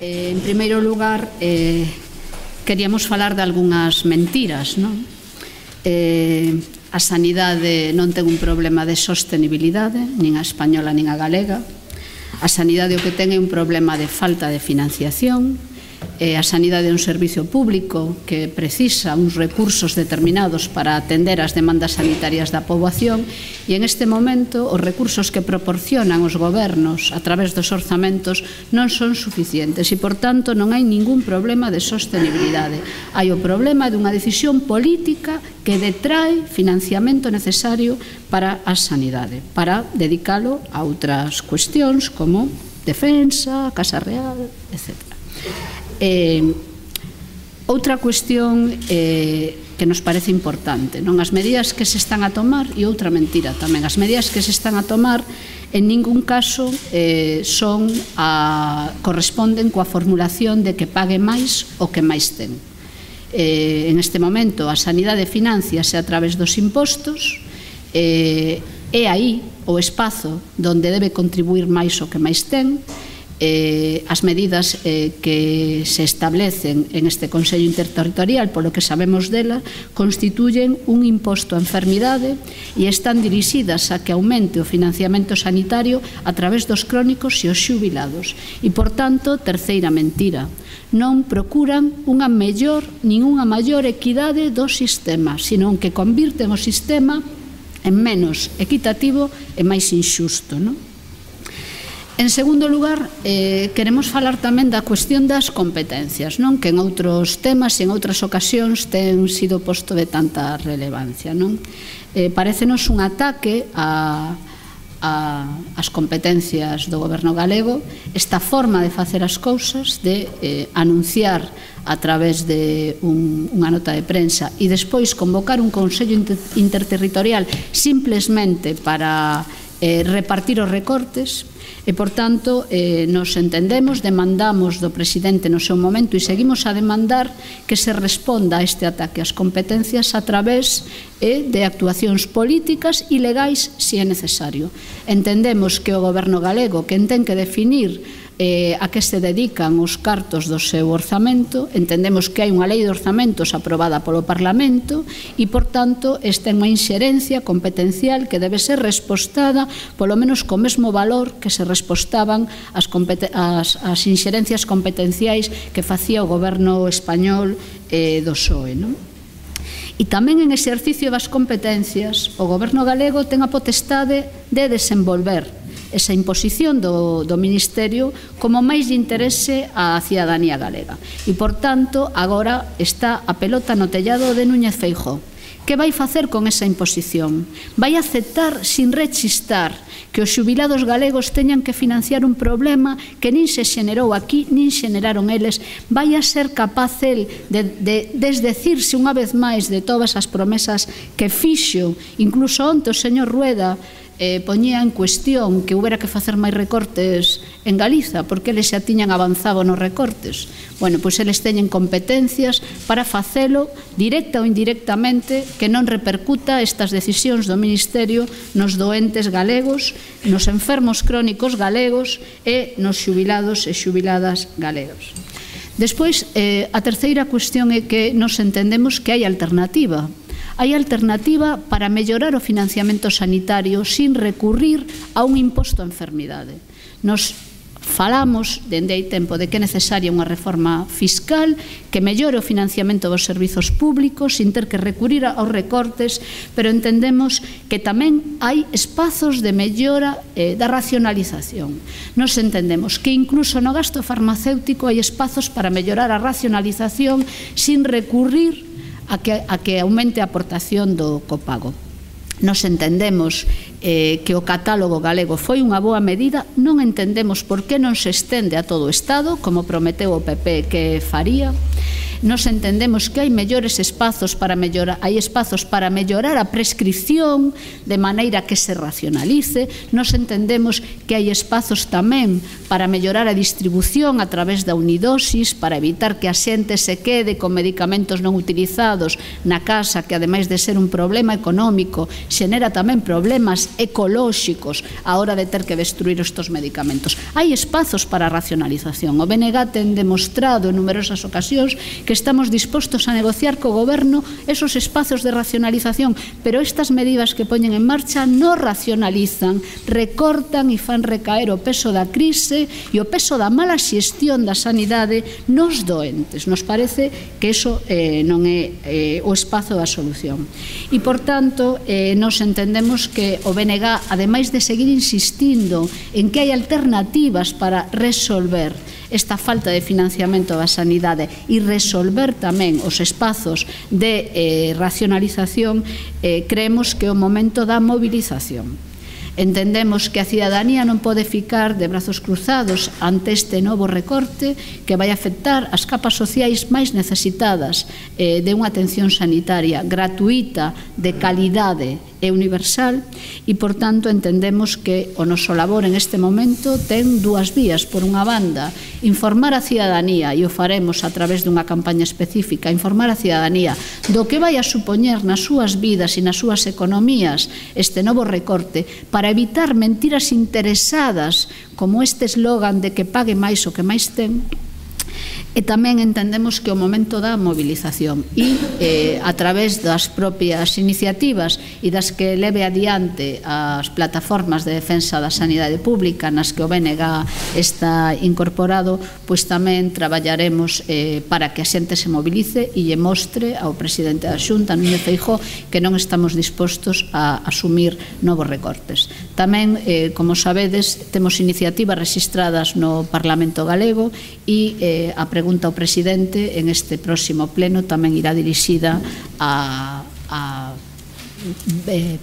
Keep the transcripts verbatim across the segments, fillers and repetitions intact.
Eh, en primeiro lugar, eh, queríamos falar de algunhas mentiras, non? Eh, a sanidade non ten un problema de sostenibilidade, nin a española nin a galega. A sanidade o que ten é un problema de falta de financiación. A sanidade é un servicio público que precisa uns recursos determinados para atender as demandas sanitarias da poboación e en este momento os recursos que proporcionan os gobernos a través dos orzamentos non son suficientes e, por tanto, non hai ningún problema de sostenibilidade. Hai o problema dunha decisión política que detrae financiamento necesario para a sanidade, para dedicalo a outras cuestións como defensa, Casa Real, etcétera. Eh, outra cuestión eh, que nos parece importante, non? As medidas que se están a tomar, e outra mentira tamén, as medidas que se están a tomar en ningún caso eh, son a, corresponden coa formulación de que pague máis o que máis ten. Eh, en este momento a sanidade financiase a través dos impostos, eh, é aí o espazo onde debe contribuir máis o que máis ten. Eh, as medidas eh, que se establecen en este Consello Interterritorial, polo que sabemos dela, constituyen un imposto a enfermidade e están dirixidas a que aumente o financiamento sanitario a través dos crónicos e os xubilados. E, por tanto, terceira mentira, non procuran unha mellor nin unha maior equidade do sistema, senón que convirten o sistema en menos equitativo e máis inxusto, non? En segundo lugar, eh, queremos falar tamén da cuestión das competencias, non? Que en outros temas e en outras ocasións ten sido posto de tanta relevancia, non? Eh, parécenos un ataque a, a, as competencias do goberno galego esta forma de facer as cousas, de eh, anunciar a través de un, unha nota de prensa e despois convocar un Consello inter, interterritorial simplesmente para eh, repartir os recortes. E, por tanto, eh, nos entendemos, demandamos do presidente no seu momento e seguimos a demandar que se responda a este ataque ás competencias a través eh, de actuacións políticas e legais se é necesario. Entendemos que o goberno galego, quen ten que definir eh, a que se dedican os cartos do seu orzamento, entendemos que hai unha lei de orzamentos aprobada polo Parlamento e, por tanto, esta é unha inxerencia competencial que debe ser respostada polo menos co mesmo valor que se respostaban as, as, as inxerencias competenciais que facía o goberno español eh, do P S O E, non? E tamén en exercicio das competencias o goberno galego ten a potestade de desenvolver esa imposición do, do Ministerio como máis de interese á cidadanía galega. E, por tanto, agora está a pelota no tellado de Núñez Feijóo. Que vai facer con esa imposición? Vai aceptar sin rechistar que os xubilados galegos teñan que financiar un problema que nin se xenerou aquí, nin xeneraron eles? Vai a ser capaz el de, de desdecirse unha vez máis de todas as promesas que fixo? Incluso onte o señor Rueda eh, poñía en cuestión que houbera que facer máis recortes en Galiza, porque eles xa tiñan avanzado nos recortes. Bueno, pois eles teñen competencias para facelo directa ou indirectamente, que non repercuta estas decisións do Ministerio nos doentes galegos, nos enfermos crónicos galegos e nos xubilados e xubiladas galegos. Despois, eh, a terceira cuestión é que nos entendemos que hai alternativa. Hai alternativa para mellorar o financiamento sanitario sin recurrir a un imposto a enfermidade. Nos falamos dende hai tempo de que é necesaria unha reforma fiscal que mellore o financiamento dos servizos públicos sin ter que recurrir aos recortes, pero entendemos que tamén hai espazos de mellora eh, da racionalización. Nos entendemos que incluso no gasto farmacéutico hai espazos para mellorar a racionalización sin recurrir a que, a que aumente a aportación do copago. Nos entendemos eh, que o catálogo galego foi unha boa medida, non entendemos por que non se estende a todo o Estado, como prometeu o P P que faría. nos entendemos que hai mellores espazos para mellorar, hai espazos para mellorar a prescripción de maneira que se racionalice, nos entendemos que hai espazos tamén para mellorar a distribución a través da unidosis, para evitar que a xente se quede con medicamentos non utilizados na casa, que ademais de ser un problema económico, xenera tamén problemas ecolóxicos a hora de ter que destruir estes medicamentos. Hai espazos para a racionalización. O B N G ten demostrado en numerosas ocasións que estamos dispostos a negociar co goberno esos espazos de racionalización, pero estas medidas que poñen en marcha non racionalizan, recortan e fan recaer o peso da crise e o peso da mala xestión da sanidade nos doentes. Nos parece que iso eh, non é eh, o espazo da solución. E, por tanto, eh, nos entendemos que o B N G, ademais de seguir insistindo en que hai alternativas para resolver esta falta de financiamento da sanidade e resolver tamén os espazos de eh, racionalización, eh, creemos que é o momento da movilización. Entendemos que a cidadanía non pode ficar de brazos cruzados ante este novo recorte que vai afectar as capas sociais máis necesitadas eh, de unha atención sanitaria gratuita, de calidade e universal, e, por tanto, entendemos que o noso labor en este momento ten dúas vías. Por unha banda, informar a cidadanía, e o faremos a través dunha campaña específica, informar a cidadanía do que vai a supoñer nas súas vidas e nas súas economías este novo recorte, para evitar mentiras interesadas como este eslogan de que pague máis o que máis ten. E tamén entendemos que o momento da movilización e eh, a través das propias iniciativas e das que leve adiante as plataformas de defensa da sanidade pública nas que o B N G está incorporado, pois tamén traballaremos eh, para que a xente se movilice e lle mostre ao presidente da Xunta, Núñez Feijóo, que non estamos dispostos a asumir novos recortes. Tamén, eh, como sabedes, temos iniciativas registradas no Parlamento Galego e eh, a pregunta ao presidente en este próximo pleno tamén irá dirixida a, a eh,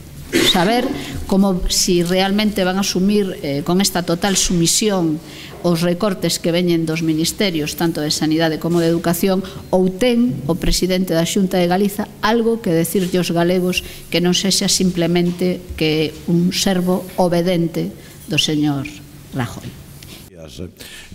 saber como si realmente van a asumir eh, con esta total sumisión os recortes que veñen dos ministerios tanto de Sanidade como de Educación, ou ten o presidente da Xunta de Galiza algo que decirlle aos galegos que non sexa simplemente que un servo obedente do señor Rajoy.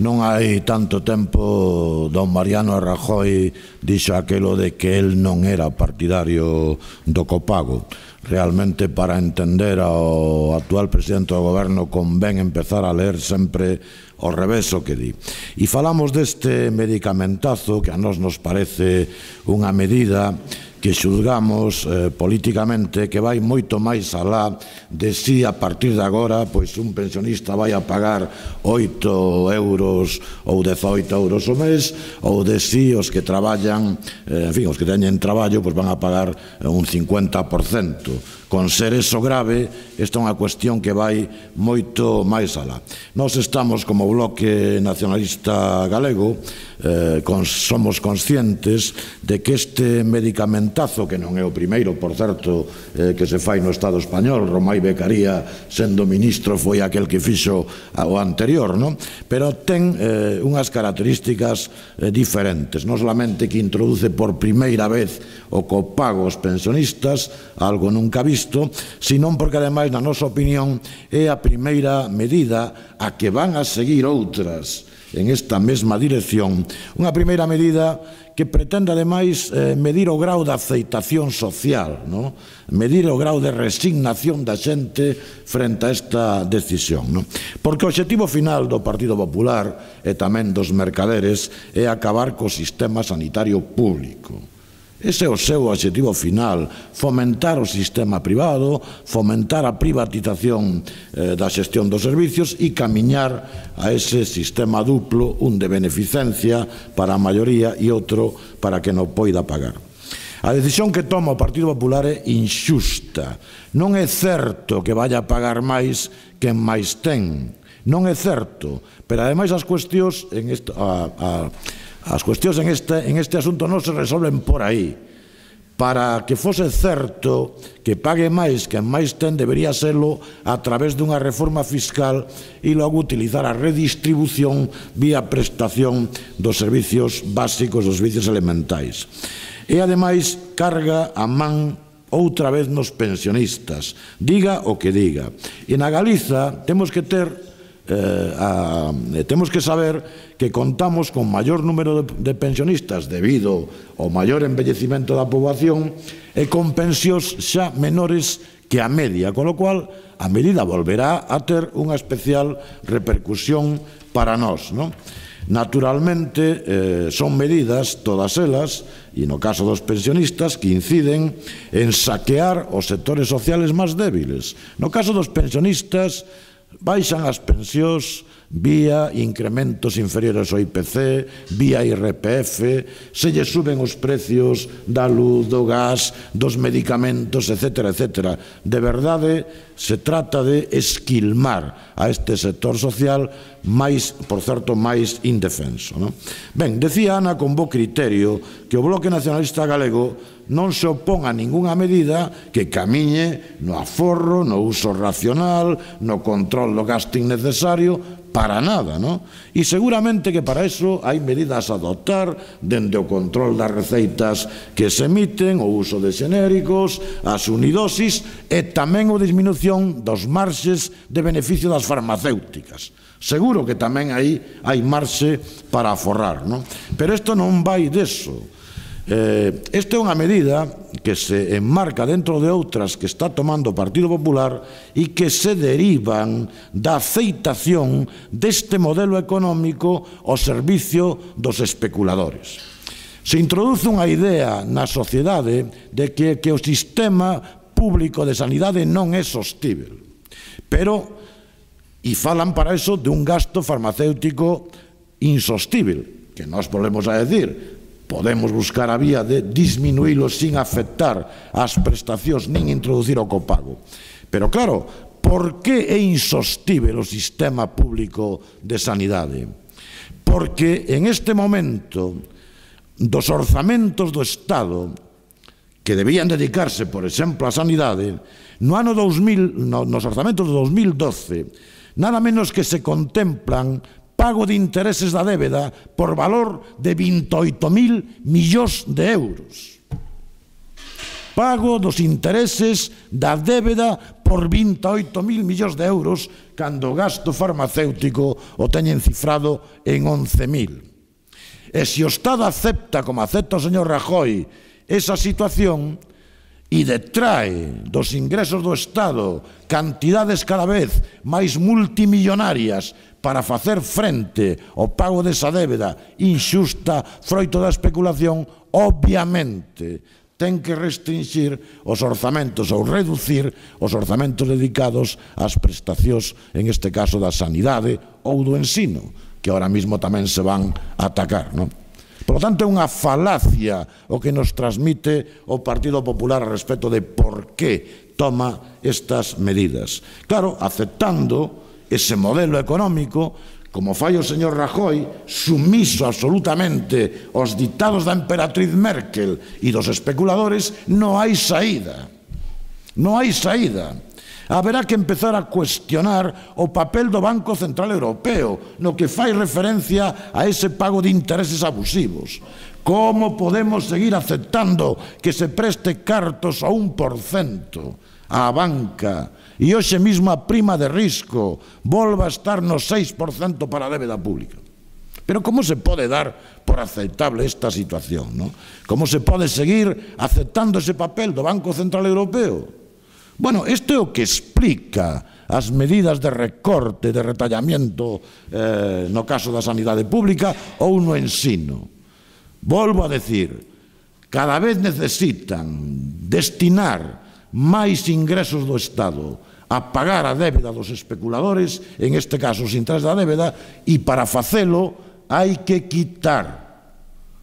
Non hai tanto tempo don Mariano Rajoy dixo aquelo de que el non era partidario do copago. Realmente, para entender ao actual presidente do goberno, convén empezar a ler sempre ao revés o que di. E falamos deste medicamentazo que a nós nos parece unha medida que xulgamos eh, políticamente que vai moito máis alá de si a partir de agora pois un pensionista vai a pagar oito euros ou dezoito euros o mes, ou de si os que traballan, eh, en fin, os que teñen traballo pois van a pagar un cincuenta por cento. Con ser eso grave, esta é unha cuestión que vai moito máis alá. Nós estamos, como Bloque Nacionalista Galego, eh, con, somos conscientes de que este medicamentazo, que non é o primeiro, por certo, eh, que se fai no Estado español, Romai Becaría, sendo ministro, foi aquel que fixo o anterior, non? Pero ten eh, unhas características eh, diferentes. Non solamente que introduce por primeira vez o copago aos pensionistas, algo nunca visto, senón porque, ademais, na nosa opinión, é a primeira medida a que van a seguir outras en esta mesma dirección. Unha primeira medida que pretende, ademais, eh, medir o grau de aceitación social, no? Medir o grau de resignación da xente frente a esta decisión, no? Porque o obxectivo final do Partido Popular e tamén dos mercaderes é acabar co sistema sanitario público. Ese é o seu obxectivo final, fomentar o sistema privado, fomentar a privatización eh, da xestión dos servicios e camiñar a ese sistema duplo, un de beneficencia para a maioría e outro para que non poida pagar. A decisión que toma o Partido Popular é inxusta. Non é certo que vaya a pagar máis quen máis ten. Non é certo. Pero, ademais, as cuestións en esta... A, a, As cuestións en este, en este asunto non se resolven por aí. para que fose certo que pague máis quen máis ten, debería serlo a través dunha reforma fiscal e logo utilizar a redistribución vía prestación dos servicios básicos, dos servicios elementais. E, ademais, carga a man outra vez nos pensionistas, diga o que diga. E na Galiza temos que ter Eh, a, temos que saber que contamos con maior número de, de pensionistas debido ao maior envellecimento da poboación e con pensións xa menores que a media, con lo cual a medida volverá a ter unha especial repercusión para nós, non? Naturalmente, eh, son medidas, todas elas, e no caso dos pensionistas, que inciden en saquear os sectores sociales máis débiles. No caso dos pensionistas, baixan as pensións vía incrementos inferiores ao I P C, vía I R P F, se lle suben os precios da luz, do gas, dos medicamentos, etcétera, etcétera. De verdade, se trata de esquilmar a este sector social máis, por certo, máis indefenso, non? Ben, decía Ana con bo criterio que o Bloque Nacionalista Galego non se opón a ningunha medida que camiñe no aforro, no uso racional, no control do gasto innecesario, para nada, non? E seguramente que para iso hai medidas a adoptar dende o control das receitas que se emiten, o uso de xenéricos, as unidosis e tamén a disminución dos marxes de beneficio das farmacéuticas. Seguro que tamén aí hai marxe para aforrar, non? Pero isto non vai deso. Eh, esta é unha medida que se enmarca dentro de outras que está tomando o Partido Popular e que se derivan da aceitación deste modelo económico ao servicio dos especuladores. Se introduce unha idea na sociedade de que, que o sistema público de sanidade non é sostível, pero e falan para eso de un gasto farmacéutico insostível, que nós volvemos a decir. Podemos buscar a vía de disminuílo sin afectar as prestacións nin introducir o copago. Pero claro, por que é insostível o sistema público de sanidade? Porque en este momento dos orzamentos do Estado que debían dedicarse, por exemplo, á sanidade, no ano dos mil, no, nos orzamentos de dos mil doce, nada menos que se contemplan pago de intereses da débeda por valor de vinte e oito mil millóns de euros. Pago dos intereses da débeda por vinte e oito mil millóns de euros cando o gasto farmacéutico o teñen cifrado en once mil. E se o Estado acepta, como acepta o señor Rajoy, esa situación e detrae dos ingresos do Estado cantidades cada vez máis multimillonarias para facer frente ao pago desa débeda inxusta froito da especulación, obviamente ten que restringir os orzamentos ou reducir os orzamentos dedicados ás prestacións, en este caso da sanidade ou do ensino, que ahora mismo tamén se van a atacar, non? Por lo tanto, é unha falacia o que nos transmite o Partido Popular a respecto de por que toma estas medidas. Claro, aceptando ese modelo económico, como fai o señor Rajoy, sumiso absolutamente aos ditados da emperatriz Merkel e dos especuladores, non hai saída. Non hai saída. Haberá que empezar a cuestionar o papel do Banco Central Europeo no que fai referencia a ese pago de intereses abusivos. Como podemos seguir aceptando que se preste cartos a un por cento á banca e hoxe mesmo a prima de risco volva a estar no seis por cento para a débeda pública? Pero como se pode dar por aceptable esta situación, non? Como se pode seguir aceptando ese papel do Banco Central Europeo? Bueno, isto é o que explica as medidas de recorte, de retallamiento eh, no caso da sanidade pública ou no ensino. Volvo a decir, cada vez necesitan destinar máis ingresos do Estado a pagar a débeda dos especuladores, en este caso os intereses da débeda, e para facelo hai que quitar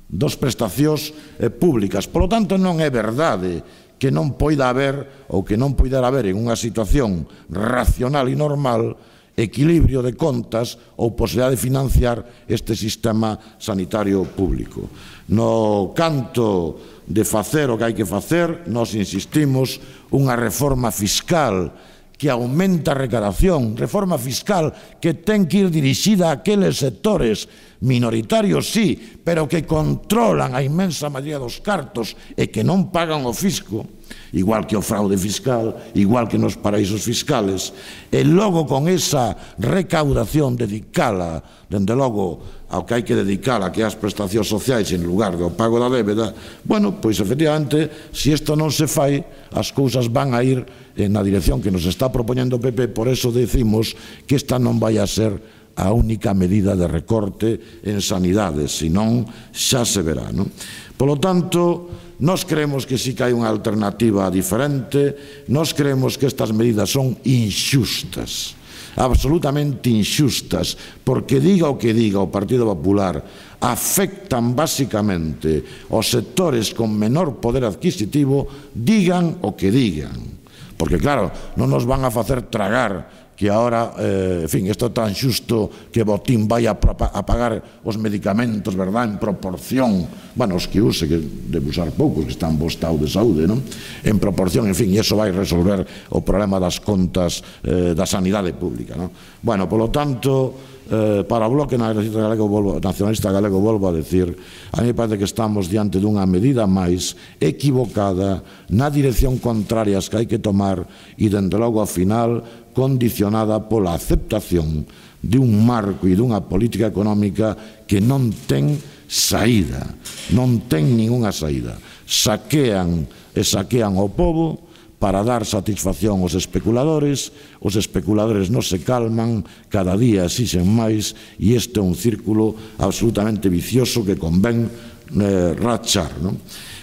dos prestacións eh, públicas. Por lo tanto, non é verdade que non poida haber ou que non poidera haber en unha situación racional e normal equilibrio de contas ou posibilidade de financiar este sistema sanitario público. No canto de facer o que hai que facer, nós insistimos unha reforma fiscal que aumenta a recadación, reforma fiscal que ten que ir dirixida a aqueles sectores minoritarios, sí, pero que controlan a inmensa maioría dos cartos e que non pagan o fisco, igual que o fraude fiscal, igual que nos paraísos fiscales, e logo con esa recaudación dedicala, dende logo, ao que hai que dedicala, que é as prestacións sociais en lugar do pago da débeda, bueno, pois efectivamente, se isto non se fai, as cousas van a ir na dirección que nos está propoñendo o P P, por eso decimos que esta non vai a ser a única medida de recorte en sanidade, senón xa se verá, non? Polo tanto, nós creemos que sí que hai unha alternativa diferente, nós creemos que estas medidas son inxustas, absolutamente inxustas, porque diga o que diga o Partido Popular, afectan basicamente aos sectores con menor poder adquisitivo, digan o que digan. Porque, claro, non nos van a facer tragar que agora, eh, en fin, isto é tan xusto que Botín vai a, a pagar os medicamentos, verdad, en proporción, bueno, os que use, que debe usar poucos, que están en bo estado de saúde, non? En proporción, en fin, e iso vai resolver o problema das contas eh, da sanidade pública, non? Bueno, polo tanto, eh, para o Bloque Nacionalista Galego, volvo, Nacionalista Galego, volvo a decir, a mí me parece que estamos diante dunha medida máis equivocada, na dirección contraria as que hai que tomar, e, dende logo, ao final, condicionada pola aceptación de un marco e dunha política económica que non ten saída, non ten ningunha saída. Saquean e saquean o pobo para dar satisfacción aos especuladores, os especuladores non se calman, cada día exixen máis, e este é un círculo absolutamente vicioso que convén eh, rachar, non?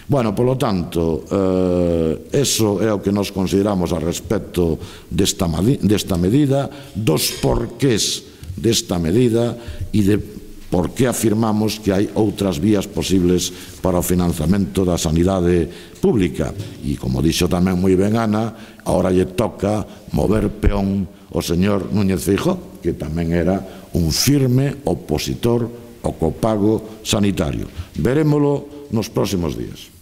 Bueno, polo tanto, eh, eso é o que nos consideramos a respecto desta, desta medida, dos porqués desta medida e de por que afirmamos que hai outras vías posibles para o financiamento da sanidade pública. E, como dixo tamén moi ben Ana, agora lle toca mover peón o señor Núñez Feijóo, que tamén era un firme opositor ao copago sanitario. Verémolo nos próximos días.